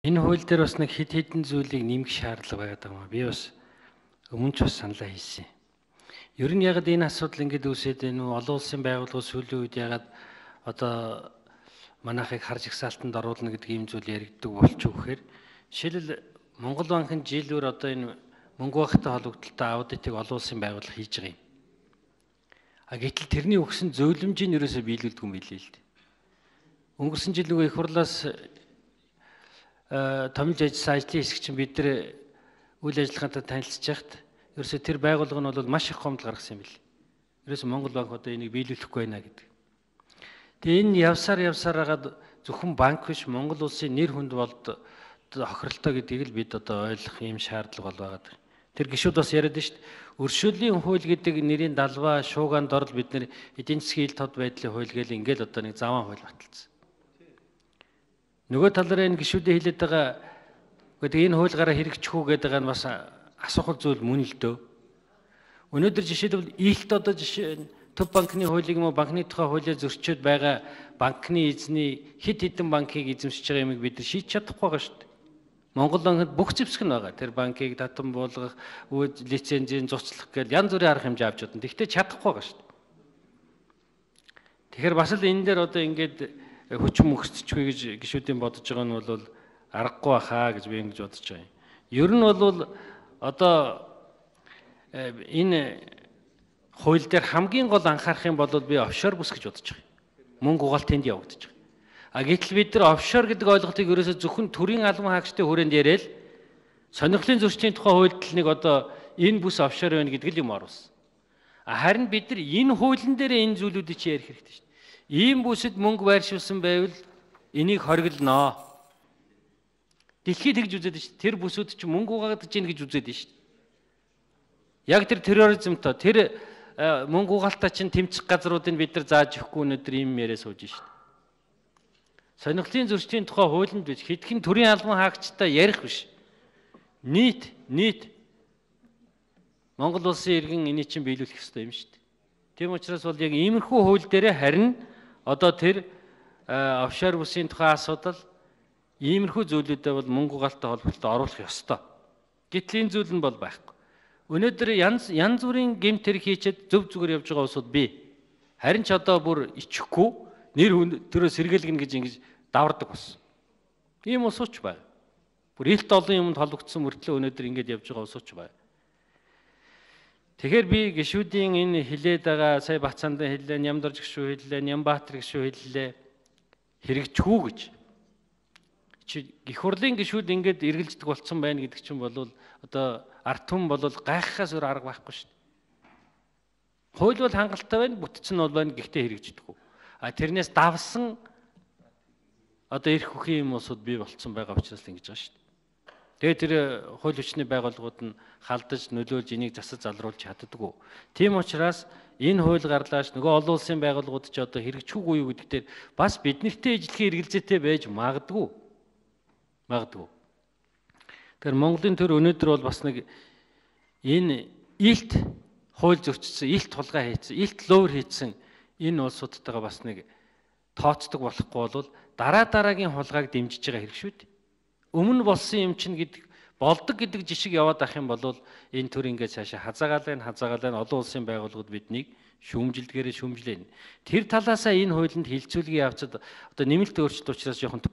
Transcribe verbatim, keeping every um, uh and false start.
Энэ хууль дээр бас нэг хэд хэдэн зүйлийг нэмэх шаардлага байгаа юм аа. Би бас өмнө ч бас саналаа хийсэн. Ер нь яг энэ асуудал ингэж үүсээд энэ олон улсын байгууллага сүүлийн үед ягаад одоо манайхыг харж ихсаалтанд оруулна гэдэг ийм зүйл яригддаг болчих вэхээр жишээлбэл Монгол банкын жилээр одоо энэ мөнгө багтай холбогдолтой аудитыг олон улсын байгууллага хийж байгаа юм. А гэтэл тэрний өгсөн зөвлөмжийг ерөөсөө биелүүлдэг юм билээ л дээ. Өнгөрсөн жил нөгөө их хурлаас томилж ажилласан ажлын хэсэг чинь бид нар үйл ажиллагаантай танилцж яхад ерөөсөө тэр байгууллага нь бол маш их гомдол гаргасан юм бил. Ерөөсөө Монгол банк одоо энийг биелүүлэхгүй байна гэдэг. Тэгээ энэ явсаар явсаар хагаад зөвхөн банк биш Монгол улсын нэр хүнд болд хохиролтой гэдгийг л бид одоо ойлгох юм шаардлага бол байгаа. Тэр гишүүд бас яриад шүү дээ. Өршөөлийн хууль гэдэг нэрийн далбаа шуугаанд орол бид нэр эдийн засгийн ил тод байдлын хууль гээл ингээл одоо нэг заван хууль баталсан. Нөгөө талаараа энэ гишүүдийн хэлээд байгаа гэдэг энэ хуулиараа хэрэгжих үү гэдэг нь бас асуухал зүйл мөн л дөө. Өнөөдөр жишээлбэл илт одоо жишээ төв банкны хуулийг юм уу банкны тухай хуулиар зөрчөөд байгаа банкны эзний хэд хэдэн банкыг эзэмшиж байгаа юмыг бид нар шийдэж чадахгүй байгаа шүү дээ. Монгол банкнд бүх зэвсэг нь байгаа. Тэр банкыг татан буулгах, лицензийн зуцлах гэж янз бүрийн арга хэмжээ авч удаа. Тэгтээ чадахгүй байгаа шүү дээ. Тэгэхээр бас л энэ дээр одоо ингээд хүчин мөхсөхгүй гэж гишүүдийн бодож байгаа нь бол аргагүй баха гэж би ингэж бодож байгаа юм. Ер нь бол одоо энэ хууль дээр хамгийн гол анхаарах юм бол би офшор бүс гэж бодож байгаа юм. Мөнгө угаалт тэнд явагдаж байгаа. А гэтэл бид нар офшор гэдэг ойлголтыг ерөөсөө зөвхөн төрийн албан хаагчдын хүрээнд яриад сонирхлын зөрчлийн тухай хуульд нэг одоо энэ бүс офшор байна гэдэг л юм оруулсан. Харин бид нар энэ хуулийн дээр энэ зүйлүүдийг чи ярих хэрэгтэй шүү дээ. Ийм бүсэд мөнгө байршуулсан байвал энийг хориглоно. Дэлхийд тэгж үзээд шүү дээ. Тэр бүсүүд чи мөнгө угаагаад чинь гэж үзээд шүү дээ. Яг тэр терроризмтой тэр мөнгө угаалтаа чинь тэмцэх газруудыг бид нар зааж өгөхгүй өнөдөр ийм яриа сууж шүү дээ. Сонирхлын зөрчлийн тухай хуулинд биш хэдхэн төрийн албан хаагчтай ярих биш. Нийт нийт Монгол улсын иргэн энийг чинь биелүүлэх ёстой юм шүү дээ. Тийм учраас бол яг иймэрхүү хууль дээр харин одоо тэр офшор бүсийн тухай асуудал иймэрхүү зүйлүүдэд бол мөнгө угаалтай холбоотой оруулах ёстой. Гэтэл энэ зүйл нь бол байхгүй. Өнөөдөр янз янз бүрийн гэмт хэрэг хийчихэд зөв зүгээр явж байгаа улсууд бий. Харин ч одоо бүр ичихгүй нэр төрөө сэргээлгэн гэж ингэж давардаг болсон. Ийм улсууч байна. Бүр илт олон юмд холбогдсон мөртлөө өнөөдөр ингэж явж байгаа улсууч байна. Тэгэхээр би гишүүдийн энэ хилээд байгаа сая Бацаандан хэллээ, Нямдарж гишүү хэллээ, Нямбаатар гишүү хэллээ хэрэгжихүү гэж. Чи гих хурлын гишүүд ингэж эргэлздэг болцсон байна гэдэг чинь бол одоо ард түмэн бол гайхахаас өөр арга байхгүй шүү дээ. Хууль бол хангалттай байна, бүтцэн бол байна, гэхдээ хэрэгждэггүй. А тэрнээс давсан одоо эрх хөхийн юм уусууд бий болцсон байгаа учраас л ингэж байгаа шүү дээ. Тэгээ тэр хууль хүчний байгууллагууд нь халдаж нөлөөлж энийг засаж залруулж чаддаггүй. Тийм учраас энэ хууль гарлаач нөгөө олон улсын байгууллагууд ч одоо хэрэгжихгүй юу гэдэг дээр бас бид нартэй ижлэхэн эргэлзээтэй байж магадгүй. Магадгүй. Тэр Монголын төр өнөөдөр бол бас нэг энэ илт хууль зөрчсөн, илт тулгай хийсэн, илт луур хийсэн энэ улсуудтайгаа бас нэг тооцдог болохгүй бол дараа дараагийн хулгайг дэмжиж байгаа хэрэг шүү дээ. Өмнө болсон юм чинь гэдэг болдог гэдэг жишг яваад ах юм бол энэ төр ингээд цаашаа хазаагаалаа хазаагаалаа олон улсын байгууллагууд биднийг шүүмжилдгээрээ шүүмжлээн. Тэр талаасаа энэ хуулинд хилцүүлгийг явцад одоо нэмэлт өөрчлөлт учраас жоохон